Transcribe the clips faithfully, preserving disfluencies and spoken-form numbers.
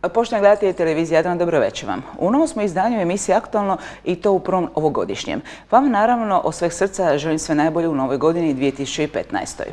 Poštovani gledatelji televizije Jadran, dobro večer vam. U novom smo izdanju emisije Aktualno i to u prvom ovogodišnjem. Vam naravno od sveg srca želim sve najbolje u novoj godini dvije tisuće petnaestoj.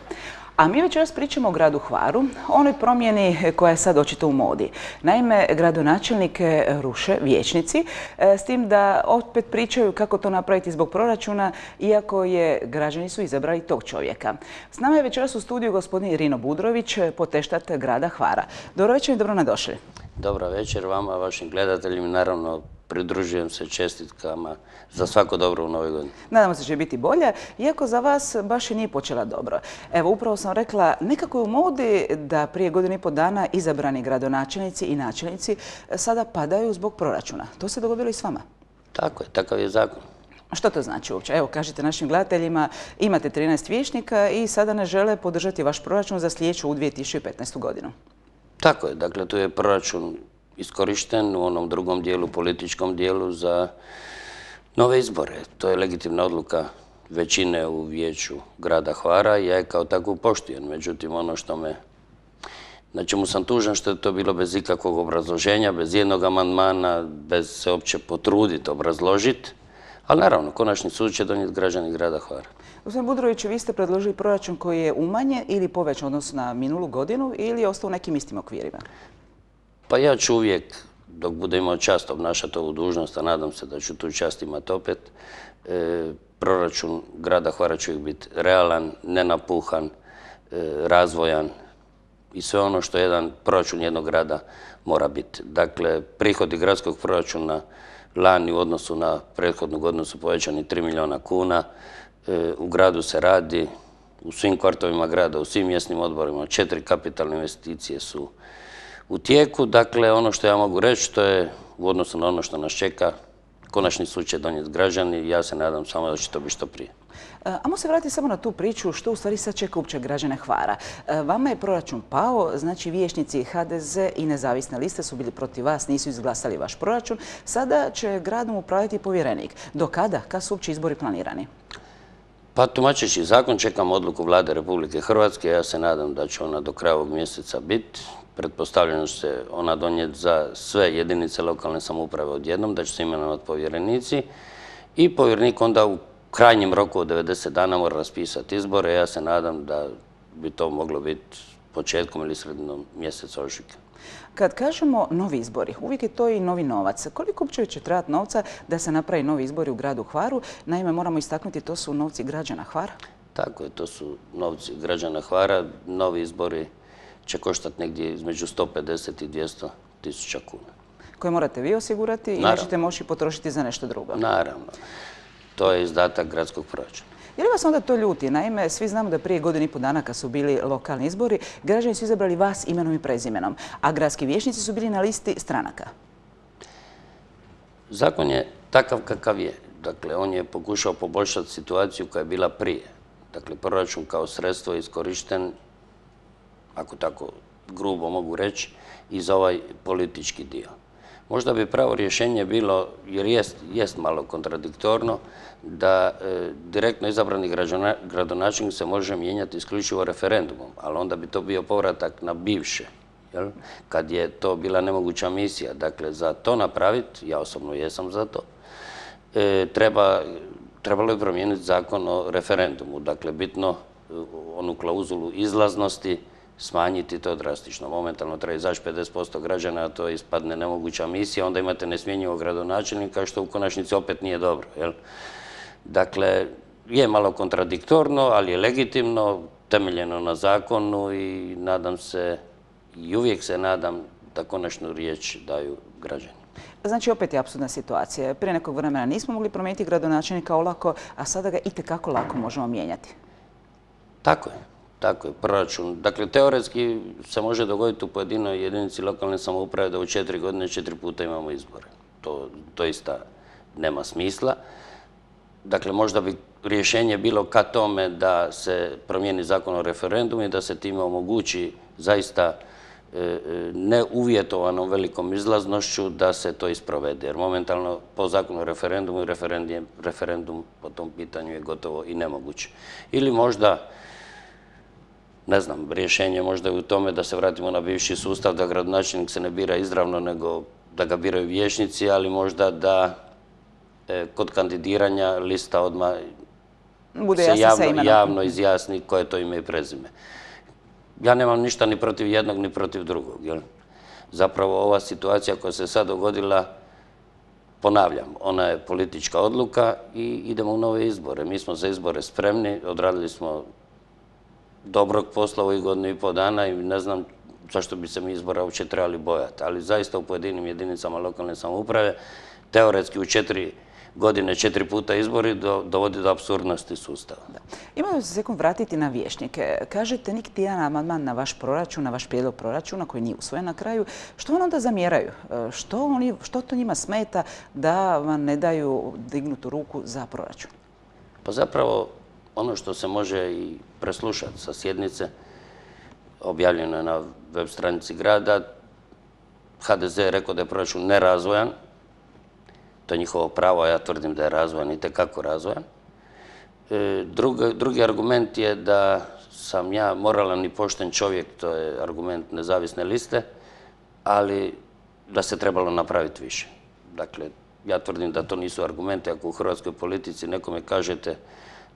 A mi večeras pričamo o gradu Hvaru, o onoj promjeni koja je sad očito u modi. Naime, gradonačelnike ruše vijećnici, s tim da opet pričaju kako to napraviti zbog proračuna, iako je građani su izabrali tog čovjeka. S nama je večeras u studiju gospodin Rino Budrović, poteštat grada Hvara. Dobro večer i dobro nadošli. Dobro večer vama, vašim gledateljima. Naravno, pridružujem se čestitkama za svako dobro u novoj godini. Nadamo se da će biti bolje, iako za vas baš i nije počela dobro. Evo, upravo sam rekla, nekako je u modi da prije godinu i pol dana izabrani gradonačelnici i načelnici sada padaju zbog proračuna. To se dogodilo i s vama? Tako je, takav je zakon. Što to znači uopće? Evo, kažite našim gledateljima, imate trinaest vijećnika i sada ne žele podržati vaš proračun za sljedeću u dvije tisuće petnaestu godinu. Tako je, dakle, tu je proračun iskorišten u onom drugom dijelu, političkom dijelu za nove izbore. To je legitimna odluka većine u vijeću grada Hvara i ja je kao takvu poštujem. Međutim, ono što me, na čemu sam tužan, što je to bilo bez ikakvog obrazloženja, bez jednog amandmana, bez se uopće potruditi, obrazložiti. Ali naravno, konačni sud će donijeti građani grada Hvara. Gospodin Budrović, vi ste predložili proračun koji je umanjen ili povećan odnosno na minulu godinu ili je ostao u nekim istim okvirima? Pa ja ću uvijek, dok bude imao čast obnašati ovu dužnost, a nadam se da ću tu čast imati opet, e, proračun grada Hvara će uvijek biti realan, nenapuhan, e, razvojan i sve ono što jedan proračun jednog grada mora biti. Dakle, prihodi gradskog proračuna lani u odnosu na prethodnu godinu su povećani tri milijuna kuna. E, u gradu se radi, u svim kvartovima grada, u svim mjesnim odborima, četiri kapitalne investicije su u tijeku. Dakle, ono što ja mogu reći, to je u odnosu na ono što nas čeka, konačni sud će donijeti građani i ja se nadam samo da će to biti što prije. Ajmo se vratiti samo na tu priču što u stvari sad čeka uopće građane Hvara. Vama je proračun pao, znači vijećnici H D Z i nezavisne liste su bili protiv vas, nisu izglasali vaš proračun. Sada će gradom upravljati povjerenik. Do kada? Kad su uopće izbori planirani? Pa tumačeći zakon čekam odluku Vlade Republike Hrvatske. Ja se nadam da će ona do kraja ovog mjeseca biti. Pretpostavljeno će se ona donijeti za sve jedinice lokalne samouprave odjednom, da će se imenovati povjerenici i povjerenik onda u krajnjem roku od devedeset dana mora raspisati izbore. Ja se nadam da bi to moglo biti početkom ili sredinom mjeseca ožujka. Kad kažemo novi izbori, uvijek je to i novi novac. Koliko uopće će trebati novca da se napravi novi izbori u gradu Hvaru? Naime, moramo istaknuti, to su novci građana Hvara. Tako je, to su novci građana Hvara. Novi izbori će koštati negdje između sto pedeset i dvjesto tisuća kuna. Koje morate vi osigurati i nećete moći potrošiti za nešto drugo. Naravno. To je izdatak gradskog proračuna. Je li vas onda to ljuti? Naime, svi znamo da prije godinu i pol dana kad su bili lokalni izbori, građani su izabrali vas imenom i prezimenom, a gradski vijećnici su bili na listi stranaka. Zakon je takav kakav je. Dakle, on je pokušao poboljšati situaciju koja je bila prije. Dakle, proračun kao sredstvo je iskorišten, ako tako grubo mogu reći, i za ovaj politički dio. Možda bi pravo rješenje bilo, jer jest, jest malo kontradiktorno, da e, direktno izabrani gradonačelnik se može mijenjati isključivo referendumom, ali onda bi to bio povratak na bivše, jel? Kad je to bila nemoguća misija. Dakle, za to napraviti, ja osobno jesam za to, e, treba, trebalo je promijeniti zakon o referendumu. Dakle, bitno onu klauzulu izlaznosti smanjiti to drastično. Momentalno treba izaći pedeset posto građana, a to ispadne nemoguća misija, onda imate nesmjenjivog gradonačelnika, što u konačnici opet nije dobro. Jel? Dakle, je malo kontradiktorno, ali je legitimno, temeljeno na zakonu i nadam se, i uvijek se nadam da konačnu riječ daju građani. Znači, opet je apsurdna situacija. Prije nekog vremena nismo mogli promijeniti gradonačelnika olako, a sada ga itekako lako možemo mijenjati. Tako je. Tako je, proračun. Dakle, teoretski se može dogoditi u pojedinoj jedinici lokalne samouprave da u četiri godine četiri puta imamo izbore. To doista nema smisla. Dakle, možda bi rješenje bilo ka tome da se promijeni zakon o referendumu i da se time omogući zaista neuvjetovanom velikom izlaznošću da se to isprovede. Jer momentalno po zakonu o referendumu i referendum po tom pitanju je gotovo i nemoguće. Ili možda ne znam, rješenje možda je u tome da se vratimo na bivši sustav, da gradonačelnik se ne bira izravno, nego da ga biraju vijećnici, ali možda da e, kod kandidiranja lista odmah Bude se jasno sa javno, imenom. javno izjasni koje je to ime i prezime. Ja nemam ništa ni protiv jednog, ni protiv drugog. Jel? Zapravo ova situacija koja se sad dogodila, ponavljam, ona je politička odluka i idemo u nove izbore. Mi smo za izbore spremni, odradili smo dobrog posla u ovih godinu i pol dana i ne znam zašto bi se mi izbora uopće trebali bojati. Ali zaista u pojedinim jedinicama lokalne samouprave, teoretski u četiri godine, četiri puta izbori dovodi do apsurdnosti sustava. Imamo se sekund vratiti na vijećnike. Kažete niti jedan amandman na vaš proračun, na vaš prijedlog proračuna koji nije usvojen na kraju. Što vam onda zamjeraju? Što, oni, što to njima smeta da vam ne daju dignutu ruku za proračun? Pa zapravo ono što se može i preslušati sa sjednice, objavljeno je na web stranici grada, ha de ze je rekao da je proračun nerazvojan. To je njihovo pravo, a ja tvrdim da je razvojan i tekako razvojan. E, drugi, drugi argument je da sam ja moralan i pošten čovjek, to je argument nezavisne liste, ali da se trebalo napraviti više. Dakle, ja tvrdim da to nisu argumenti. Ako u hrvatskoj politici nekome kažete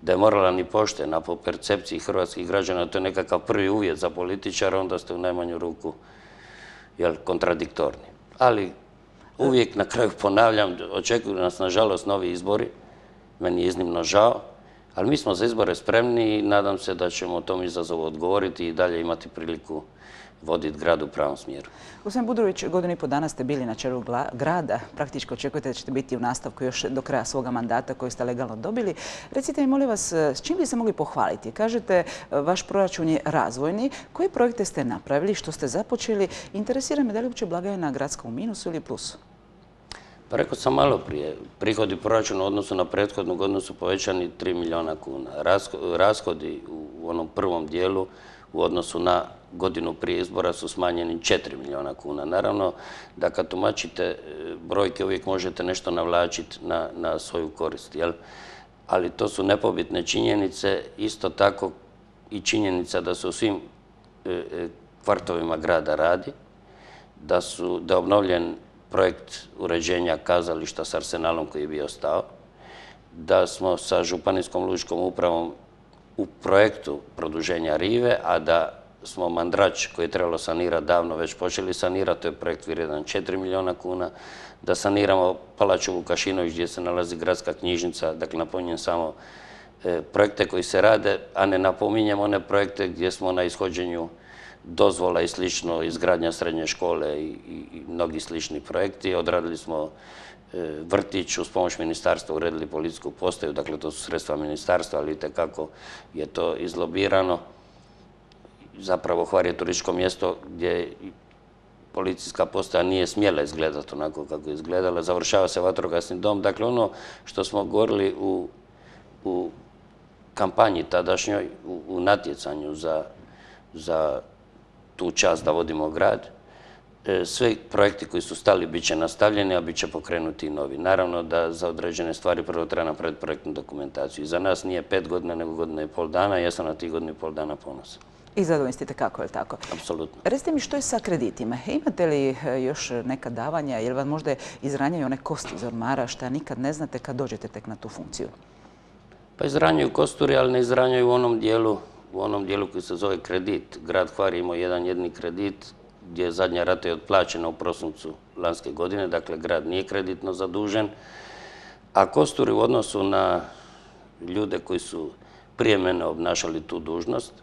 da je moralan i pošten, a po percepciji hrvatskih građana to je nekakav prvi uvjet za političara, onda ste u najmanju ruku jel, kontradiktorni. Ali uvijek na kraju ponavljam, očekuju nas nažalost novi izbori, meni je iznimno žao, ali mi smo za izbore spremni i nadam se da ćemo tom izazovu odgovoriti i dalje imati priliku voditi grad u pravom smjeru. Gospodin Budrović, godinu i po dana ste bili na čelu grada. Praktički očekujete da ćete biti u nastavku još do kraja svoga mandata koji ste legalno dobili. Recite mi, molim vas, s čim bi se mogli pohvaliti? Kažete, vaš proračun je razvojni. Koje projekte ste napravili, što ste započeli? Interesira me da li uopće blagajna gradska u minusu ili plusu? Pa rekao sam malo prije, prihodi proračuna u odnosu na prethodnu godinu su povećani tri milijuna kuna. Rashodi u onom prvom dijelu u odnosu na godinu prije izbora su smanjeni četiri milijuna kuna. Naravno da kad tumačite brojke uvijek možete nešto navlačiti na, na svoju korist, jel? Ali to su nepobitne činjenice, isto tako i činjenica da se u svim e, kvartovima grada radi, da, su, da je obnovljen projekt uređenja kazališta s Arsenalom koji je bio stao, da smo sa Županijskom lučkom upravom u projektu produženja rive, a da smo Mandrač koji je trebalo sanirati davno već počeli sanirati, to je projekt vrijedan četiri milijuna kuna, da saniramo Palaču Vukašinović gdje se nalazi gradska knjižnica, dakle napominjem samo e, projekte koji se rade, a ne napominjem one projekte gdje smo na ishođenju dozvola i slično, izgradnja srednje škole i, i, i mnogi slični projekti. Odradili smo e, vrtić, uz pomoć ministarstva uredili policijsku postaju, dakle to su sredstva ministarstva, ali itekako je to izlobirano. Zapravo Hvar je turističko mjesto gdje policijska postaja nije smjela izgledati onako kako je izgledala. Završava se vatrogasni dom. Dakle, ono što smo govorili u, u kampanji tadašnjoj, u, u natjecanju za, za tu čast da vodimo grad, sve projekti koji su stali bit će nastavljeni, a bit će pokrenuti i novi. Naravno da za određene stvari prvo treba napraviti projektnu dokumentaciju. I za nas nije pet godina, nego godina i pol dana. Ja sam na tih godinu i pol dana ponosan. I zadovoljni ste kako, je li tako? Apsolutno. Recite mi što je sa kreditima. Imate li još neka davanja, jer vam možda izranjaju one kosti iz ormara, šta nikad ne znate kad dođete tek na tu funkciju? Pa izranjaju kosturi, ali ne izranjaju u onom dijelu, u onom dijelu koji se zove kredit. Grad Hvar je imao jedan jedni kredit gdje je zadnja rata je otplaćena u prosincu lanjske godine, dakle grad nije kreditno zadužen, a kosturi u odnosu na ljude koji su prije mene obnašali tu dužnost,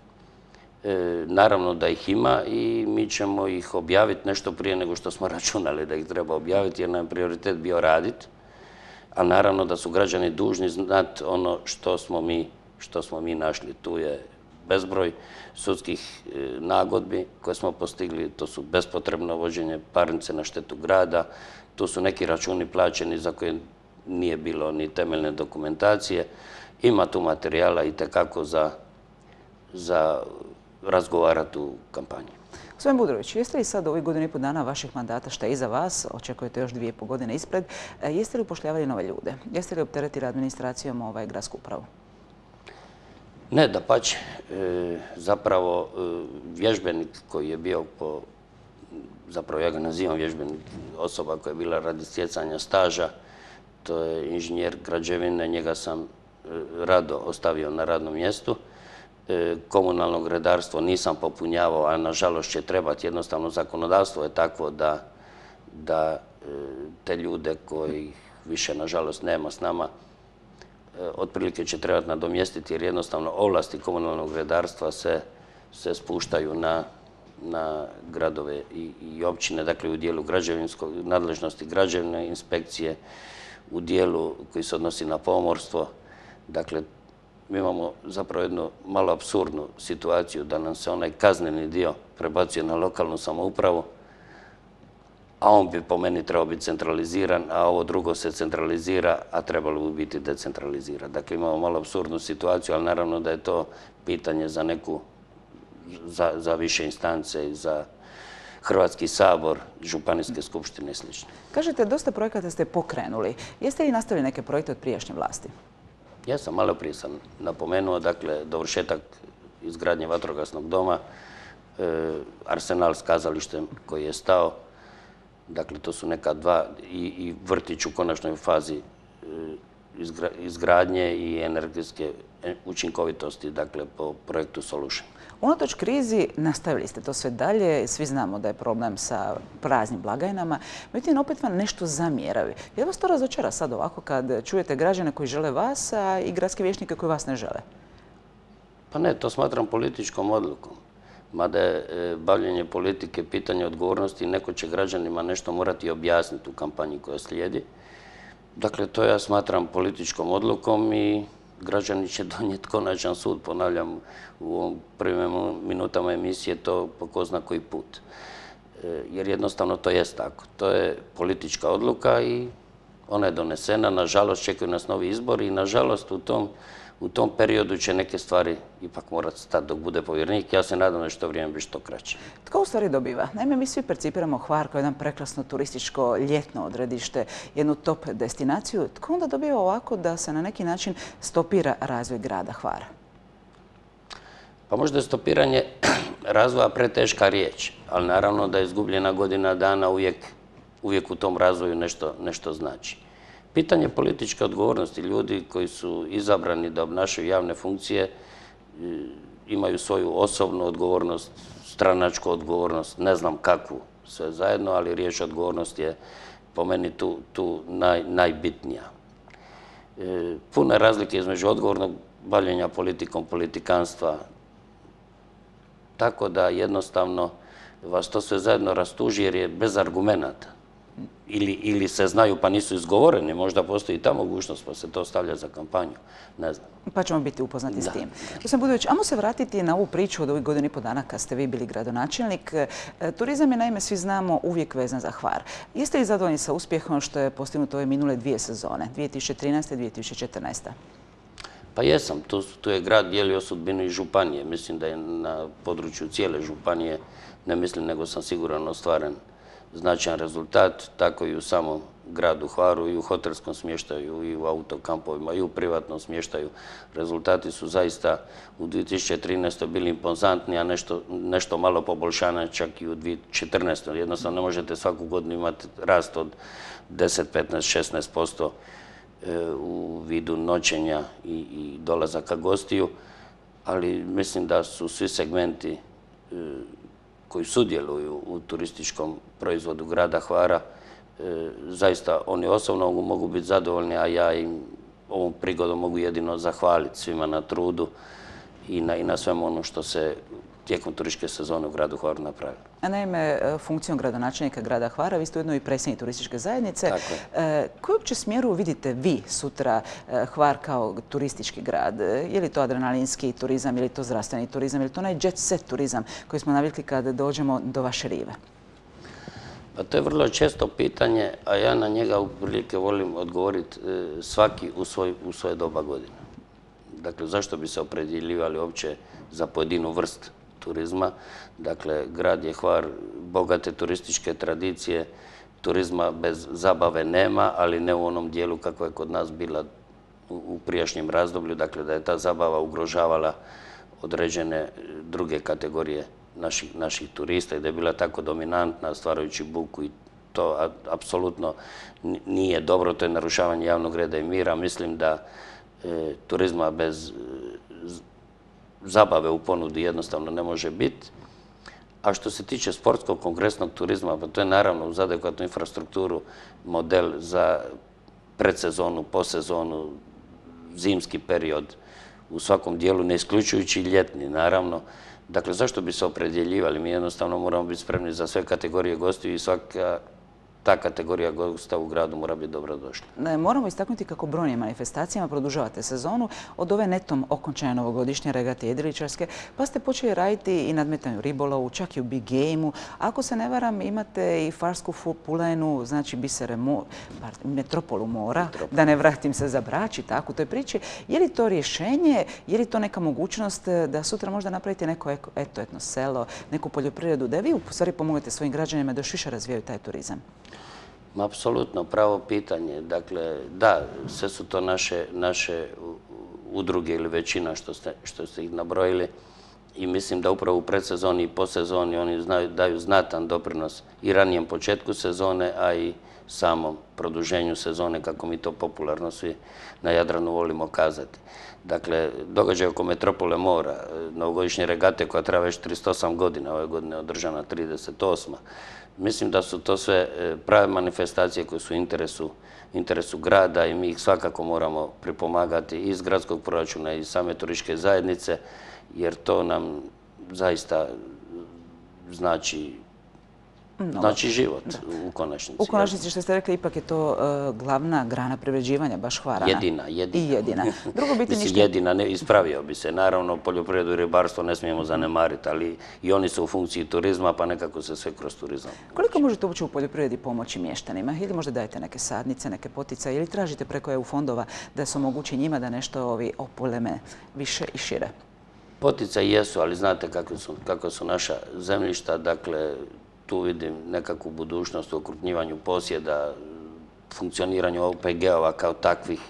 E, naravno da ih ima i mi ćemo ih objaviti nešto prije nego što smo računali da ih treba objaviti, jer nam je prioritet bio raditi, a naravno da su građani dužni znati ono što smo mi, što smo mi našli. Tu je bezbroj sudskih e, nagodbi koje smo postigli, to su bespotrebno vođenje parnice na štetu grada, tu su neki računi plaćeni za koje nije bilo ni temeljne dokumentacije, ima tu materijala itekako za, za razgovarati u kampanji. Gospodin Budrović, jeste li sad u ovih godinu i pol dana vaših mandata šta je iza vas, očekujete još dvije i pol godine ispred, jeste li upošljavali nove ljude? Jeste li opteretili administracijom ovaj gradsku upravu? Ne, dapače. Zapravo, vježbenik koji je bio po, zapravo ja ga nazivam vježbenik, osoba koja je bila radi stjecanja staža, to je inženjer građevine, njega sam rado ostavio na radnom mjestu. Komunalnog redarstvo nisam popunjavao, a nažalost će trebati, jednostavno zakonodavstvo je takvo da, da te ljude koji više nažalost nema s nama, otprilike će trebati nadomjestiti jer jednostavno ovlasti komunalnog redarstva se, se spuštaju na, na gradove i, i općine, dakle u dijelu građevinskog, nadležnosti građevne inspekcije, u dijelu koji se odnosi na pomorstvo. Dakle, mi imamo zapravo jednu malo apsurdnu situaciju da nam se onaj kazneni dio prebacuje na lokalnu samoupravu, a on bi po meni trebao biti centraliziran, a ovo drugo se centralizira, a trebalo bi biti decentralizirano. Dakle, imamo malo apsurdnu situaciju, ali naravno da je to pitanje za neku, za, za više instance i za Hrvatski sabor, županijske skupštine i sl. Kažete, dosta projekata ste pokrenuli. Jeste li nastavili neke projekte od prijašnje vlasti? Ja sam malo prije sam napomenuo, dakle, dovršetak izgradnje vatrogasnog doma, e, Arsenal s kazalištem koji je stao, dakle, to su neka dva, i, i vrtić u konačnoj fazi e, izgra, izgradnje i energetske učinkovitosti, dakle, po projektu Solution. Unatoč krizi nastavili ste to sve dalje, svi znamo da je problem sa praznim blagajnama, međutim opet vam nešto zamjeraju. Je li vas to razočara sad ovako kad čujete građane koji žele vas, a i gradske vijećnike koji vas ne žele? Pa ne, to smatram političkom odlukom. Mada je bavljenje politike pitanje odgovornosti i neko će građanima nešto morati objasniti u kampanji koja slijedi. Dakle, to ja smatram političkom odlukom i građani će donijeti konačan sud, ponavljam, u ovom prvim minutama emisije to po ko zna koji put. Jer jednostavno to jest tako. To je politička odluka i ona je donesena. Nažalost, čekaju nas novi izbori i nažalost u tom, u tom periodu će neke stvari ipak morati stati dok bude povjerenik. Ja se nadam da će to vrijeme biti što kraće. Tko u stvari dobiva? Naime, mi svi percipiramo Hvar kao jedan prekrasno turističko ljetno odredište, jednu top destinaciju. Tko onda dobiva ovako da se na neki način stopira razvoj grada Hvara? Pa možda je stopiranje razvoja preteška riječ, ali naravno da je izgubljena godina dana uvijek, uvijek u tom razvoju nešto, nešto znači. Pitanje političke odgovornosti, ljudi koji su izabrani da obnašaju javne funkcije imaju svoju osobnu odgovornost, stranačku odgovornost, ne znam kakvu sve zajedno, ali riječ odgovornost je po meni tu, tu naj, najbitnija. E, puno je razlike između odgovornog bavljenja politikom, politikanstva, tako da jednostavno vas to sve zajedno rastuži jer je bez argumenata. Ili, ili se znaju pa nisu izgovoreni, možda postoji i ta mogućnost pa se to stavlja za kampanju, ne znam. Pa ćemo biti upoznati da, s tim. Gospodin Budović, ajmo se vratiti na ovu priču od ovih godina i po dana kad ste vi bili gradonačelnik. Turizam je, naime, svi znamo, uvijek vezan za Hvar. Jeste li zadovoljni sa uspjehom što je postignuto ove minule dvije sezone, dvije tisuće trinaeste i dvije tisuće četrnaeste. Pa jesam, tu, tu je grad dijelio sudbinu i županije. Mislim da je na području cijele županije, ne mislim nego sam siguran, ostvaren značajan rezultat, tako i u samom gradu Hvaru, i u hotelskom smještaju, i u autokampovima, i u privatnom smještaju. Rezultati su zaista u dvije tisuće trinaestoj bili impozantni, a nešto, nešto malo poboljšanja čak i u dvije tisuće četrnaestoj. Jednostavno ne možete svaku godinu imati rast od deset, petnaest, šesnaest posto u vidu noćenja i, i dolazaka gostiju, ali mislim da su svi segmenti koji sudjeluju u turističkom proizvodu grada Hvara, e, zaista oni osobno mogu biti zadovoljni, a ja im ovom prigodom mogu jedino zahvaliti svima na trudu i na, i na svemu ono što se tijekom turističke sezone u gradu Hvaru napravilo. A naime, funkcijom gradonačelnika grada Hvara, vi ste ujedno i predsjednik turističke zajednice. E, koju uopće smjeru vidite vi sutra Hvar kao turistički grad? Je li to adrenalinski turizam, je li to zdravstveni turizam, je li to onaj jet set turizam koji smo navikli kada dođemo do vaše rive? Pa to je vrlo često pitanje, a ja na njega uprilike volim odgovoriti svaki u, svoj, u svoje doba godine. Dakle, zašto bi se opredjeljivali uopće za pojedinu vrst turizma? Dakle, grad je Hvar bogate turističke tradicije, turizma bez zabave nema, ali ne u onom dijelu kako je kod nas bila u prijašnjem razdoblju, dakle da je ta zabava ugrožavala određene druge kategorije naših, naših turista i da je bila tako dominantna, stvarajući buku i to apsolutno nije dobro, to je narušavanje javnog reda i mira. Mislim da e, turizma bez e, zabave u ponudi jednostavno ne može biti. A što se tiče sportskog kongresnog turizma, pa to je naravno uz adekvatnu infrastrukturu model za predsezonu, posezonu, zimski period, u svakom dijelu, ne isključujući ljetni, naravno. Dakle, zašto bi se opredjeljivali? Mi jednostavno moramo biti spremni za sve kategorije gostiju i svaka ta kategorija gosta u gradu mora biti dobrodošla. Moramo istaknuti kako brojnim manifestacijama produžavate sezonu od ove netom okončane novogodišnje regate jedriličarske, pa ste počeli raditi i nadmetanje u ribolovu, čak i u big game-u. Ako se ne varam, imate i farsku pulenu, znači bisere metropolu mora, da ne vratim se za Brač i tako u toj priči. Je li to rješenje, je li to neka mogućnost da sutra možda napravite neko eto, etno selo, neku poljoprivredu, da vi u stvari pomognete svojim građanima da još više razvijaju taj turizam? Apsolutno, pravo pitanje. Dakle, da, sve su to naše, naše udruge ili većina što ste, što ste ih nabrojili i mislim da upravo u predsezoni i posezoni oni znaju, daju znatan doprinos i ranijem početku sezone, a i samom produženju sezone, kako mi to popularno svi na Jadranu volimo kazati. Dakle, događaj oko Metropole mora, novogodišnje regate koja traje već trideset osam godina, ove godine je održana trideset osma. Mislim da su to sve prave manifestacije koje su u interesu, interesu grada i mi ih svakako moramo pripomagati i iz gradskog proračuna i iz same turističke zajednice, jer to nam zaista znači Znači život u konačnici. U konačnici, što ste rekli, ipak je to glavna grana privređivanja baš Hvarana. Jedina, jedina. I jedina. Drugo biti Mislim, jedina, ne, ispravio bi se. Naravno, poljoprivredu i ribarstvo ne smijemo zanemariti, ali i oni su u funkciji turizma, pa nekako se sve kroz turizam. Koliko možete uopće u poljoprivredi pomoći mještanima? Ili možda dajete neke sadnice, neke poticaje, ili tražite preko E U fondova da se omogući njima da nešto ovi opuleme više i šire? Poticaji jesu, ali znate kako su, kako su naša zemljišta, dakle, tu vidim nekakvu budućnost u okrupnjivanju posjeda, funkcioniranju O P G-ova kao takvih.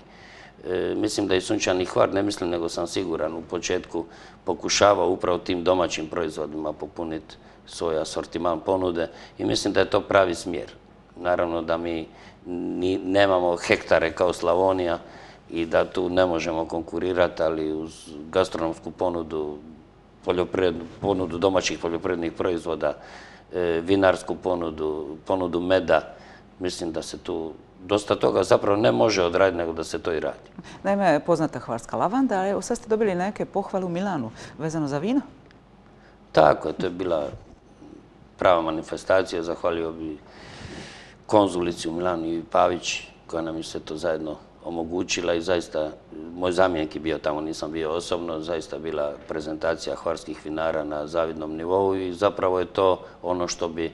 E, mislim da i Sunčani Hvar, ne mislim nego sam siguran, u početku pokušava upravo tim domaćim proizvodima popuniti svoj asortiman ponude i mislim da je to pravi smjer. Naravno da mi ni, nemamo hektare kao Slavonija i da tu ne možemo konkurirati, ali uz gastronomsku ponudu, ponudu domaćih poljoprivrednih proizvoda, vinarsku ponudu, ponudu meda, mislim da se tu dosta toga zapravo ne može odraditi, nego da se to i radi. Naime, poznata hvarska lavanda, ali evo sad ste dobili neke pohvale u Milanu vezano za vino? Tako je, to je bila prava manifestacija. Zahvalio bi konzulici u Milanu i Pavić, koja nam je sve to zajedno omogućila i zaista, moj zamjenik je bio tamo, nisam bio osobno, zaista bila prezentacija hvarskih vinara na zavidnom nivou i zapravo je to ono što bi,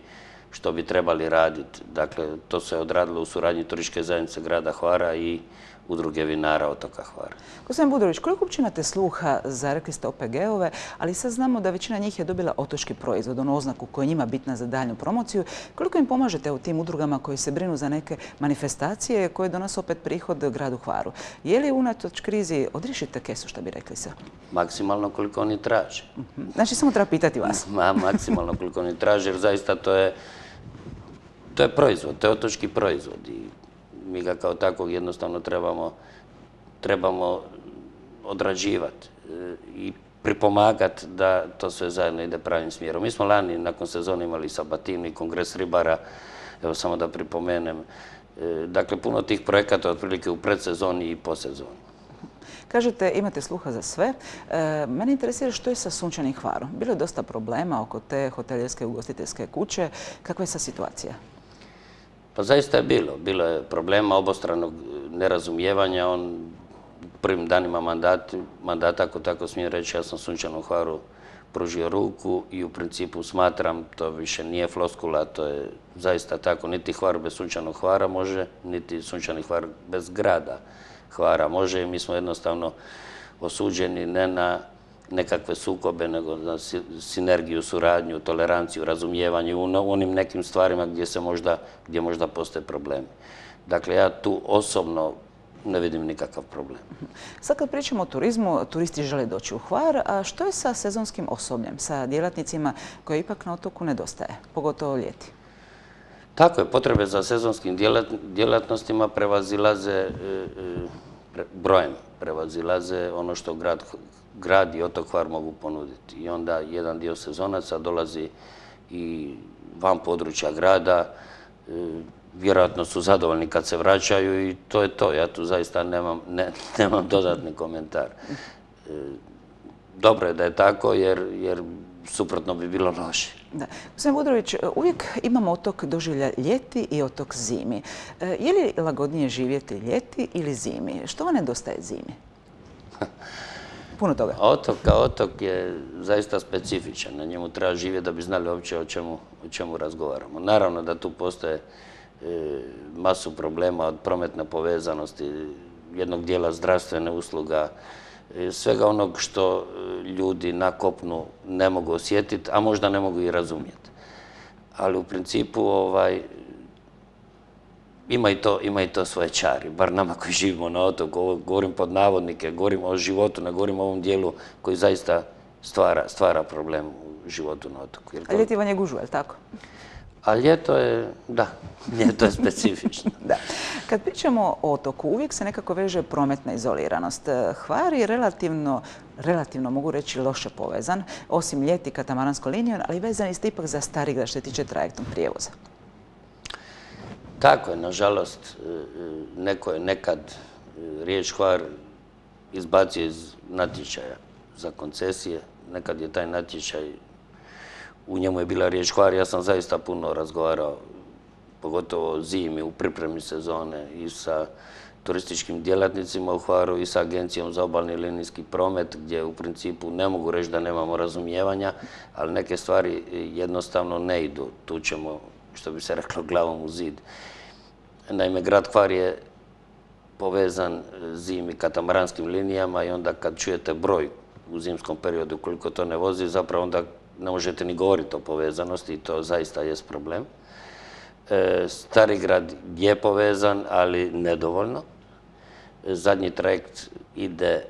što bi trebali raditi. Dakle, to se je odradilo u suradnji turističke zajednice grada Hvara i udruge vinara otoka Hvara. Gospodin Budrović, koliko uopće imate sluha za, rekli ste, O P G-ove, ali sad znamo da većina njih je dobila otočki proizvod, onu oznaku koja je njima bitna za daljnju promociju. Koliko im pomažete u tim udrugama koji se brinu za neke manifestacije koje donose opet prihod gradu Hvaru? Je li unatoč krizi odrišite kesu, što bi rekli se? Maksimalno koliko oni traže. Znači, samo treba pitati vas. Ma, maksimalno koliko oni traže, jer zaista to je, to je proizvod, to je otočki proizvod i mi ga kao takvog jednostavno trebamo, trebamo odrađivati i pripomagati da to sve zajedno ide pravim smjerom. Mi smo lani nakon sezone imali sabatinu i kongres ribara, evo samo da pripomenem. Dakle, puno tih projekata otprilike u predsezoni i posezoni. Kažete, imate sluha za sve. E, mene interesira što je sa Sunčanim Hvarom. Bilo je dosta problema oko te hoteljerske ugostiteljske kuće. Kakva je sa situacija? Pa zaista je bilo. Bilo je problema obostranog nerazumijevanja. On u prvim danima mandata, mandata, ako tako smijem reći, ja sam Sunčanom Hvaru pružio ruku i u principu smatram, to više nije floskula, to je zaista tako, niti Hvar bez Sunčanog Hvara može, niti Sunčani Hvar bez grada Hvara može i mi smo jednostavno osuđeni ne na nekakve sukobe, nego na sinergiju, suradnju, toleranciju, razumijevanje u onim nekim stvarima gdje se možda, gdje možda postoje problemi. Dakle, ja tu osobno ne vidim nikakav problem. Sad kad pričamo o turizmu, turisti žele doći u Hvar, a što je sa sezonskim osobljem, sa djelatnicima koje ipak na otoku nedostaje, pogotovo ljeti? Tako je, potrebe za sezonskim djelatnostima prevazilaze brojem, prevazilaze ono što grad i otok Hvar mogu ponuditi. I onda jedan dio sezonaca dolazi i van područja grada, vjerojatno su zadovoljni kad se vraćaju i to je to. Ja tu zaista nemam dodatni komentar. Dobro je da je tako jer suprotno bi bilo loše. Da. Gospodin Budrović, uvijek imamo otok doživlja ljeti i otok zimi. Je li lagodnije živjeti ljeti ili zimi? Što vam nedostaje zimi? Puno toga. Otok kao otok je zaista specifičan. Na njemu treba živjeti da bi znali uopće o čemu razgovaramo. Naravno da tu postoje masu problema od prometne povezanosti, jednog dijela zdravstvene usluga, svega onog što ljudi na kopnu ne mogu osjetiti, a možda ne mogu i razumjeti. Ali u principu ima i to svoje čari, bar nama koji živimo na otoku, govorim pod navodnike, govorim o životu, ne govorim o ovom dijelu koji zaista stvara problem u životu na otoku. A ljeti vam je gužva, je li tako? A ljeto je, da, ljeto je specifično. Da. Kad pričamo o otoku, uvijek se nekako veže prometna izoliranost. Hvar je relativno, relativno mogu reći, loše povezan, osim ljeti katamaranskom linijom, ali vezani ste ipak za Starigrad što se tiče trajektnog prijevoza. Tako je, nažalost, neko je nekad riječ Hvar izbacio iz natječaja za koncesije. Nekad je taj natječaj, u njemu je bila riječ Hvar, ja sam zaista puno razgovarao, pogotovo zimi, u pripremi sezone i sa turističkim djelatnicima u Hvaru i sa Agencijom za obalni linijski promet, gdje u principu ne mogu reći da nemamo razumijevanja, ali neke stvari jednostavno ne idu. Tu ćemo, što bi se reklo, glavom u zid. Naime, grad Hvar je povezan zimi katamaranskim linijama i onda kad čujete broj u zimskom periodu koliko to ne vozi, zapravo onda ne možete ni govoriti o povezanosti i to zaista jest problem. Starigrad je povezan, ali nedovoljno. Zadnji trajekt ide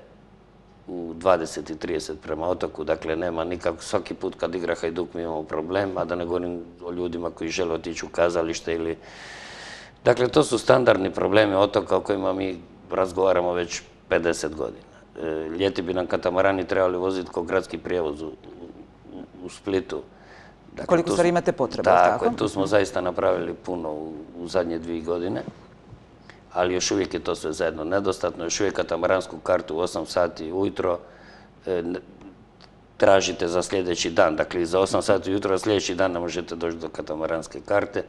u dvadeset i trideset prema otoku, dakle nema nikako, svaki put kad igra Hajduk mi imamo problem, a da ne govorim o ljudima koji žele otići u kazalište ili... Dakle, to su standardni problemi otoka o kojima mi razgovaramo već pedeset godina. Ljeti bi nam katamarani trebali voziti kao gradski prijevoz u Splitu. Koliko stvari imate potrebe, tako? Tako, tu smo zaista napravili puno u zadnje dvije godine, ali još uvijek je to sve zajedno nedostatno. Još uvijek katamaransku kartu u osam sati ujutro tražite za sljedeći dan. Dakle, za osam sati ujutro sljedeći dan ne možete doći do katamaranske karte.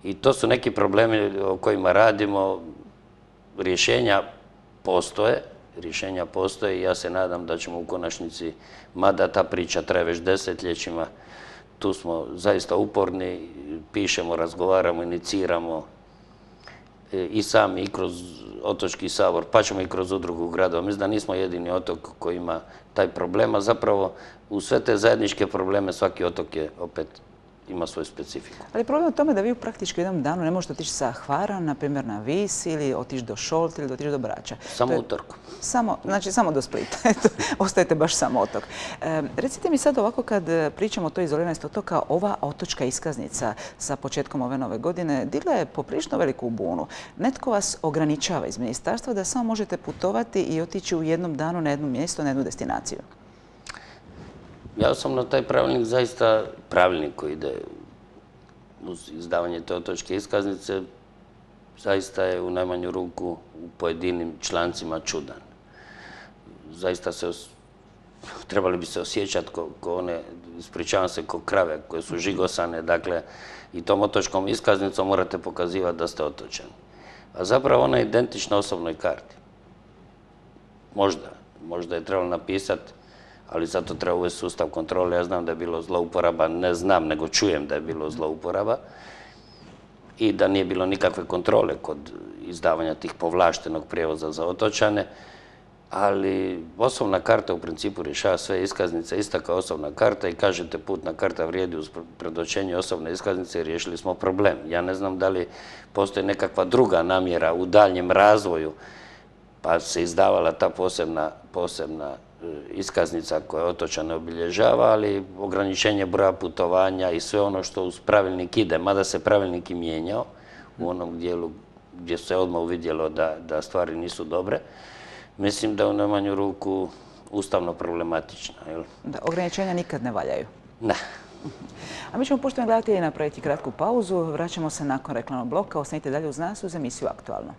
I to su neki problemi o kojima radimo. Rješenja postoje, rješenja postoje i ja se nadam da ćemo u konačnici, mada ta priča traje već desetljećima, tu smo zaista uporni, pišemo, razgovaramo, iniciramo i sami i kroz Otočki sabor, pa ćemo i kroz udrugu gradova. Mislim da nismo jedini otok koji ima taj problem, a zapravo u sve te zajedničke probleme svaki otok je opet ima svoju specifiku. Ali problem je u tome da vi u praktički jednom danu ne možete otići sa Hvara, na primjer na Vis, ili otići do Šolta ili otići do Brača. Samo utorkom. Znači samo do Splita. Ostajete baš sam otok. Recite mi sad ovako kad pričamo o toj izoliranosti otoka, ova otočka iskaznica sa početkom ove nove godine digla je poprilično veliku bunu. Netko vas ograničava iz ministarstva da samo možete putovati i otići u jednom danu na jedno mjesto, na jednu destinaciju. Ja sam na taj pravilnik zaista, pravilnik koji ide uz izdavanje te otočke iskaznice, zaista je u najmanju ruku u pojedinim člancima čudan. Zaista se, trebali bi se osjećati ko one, ispričavam se, ko krave koje su žigosane, dakle, i tom otočkom iskaznicom morate pokazivati da ste otočani. A zapravo ona je identična osobnoj karti. Možda, možda je trebalo napisati, ali zato treba uvesti sustav kontrole. Ja znam da je bilo zlouporaba, ne znam, nego čujem da je bilo zlouporaba i da nije bilo nikakve kontrole kod izdavanja tih povlaštenog prijevoza za otočane, ali osobna karta u principu rješava sve iskaznice, ista kao osobna karta i kažete putna karta vrijedi uz predočenje osobne iskaznice i riješili smo problem. Ja ne znam da li postoji nekakva druga namjera u daljnjem razvoju pa se izdavala ta posebna, posebna iskaznica koja otočane obilježava, ali ograničenje broja putovanja i sve ono što uz pravilnik ide, mada se pravilnik i mijenjao u onom dijelu gdje se odmah uvidjelo da, da stvari nisu dobre, mislim da u najmanju ruku ustavno problematično. Jel? Da, ograničenja nikad ne valjaju. Ne. A mi ćemo, poštovani gledatelji, napraviti kratku pauzu. Vraćamo se nakon reklamnog bloka. Ostanite dalje uz nas uz emisiju Aktualno.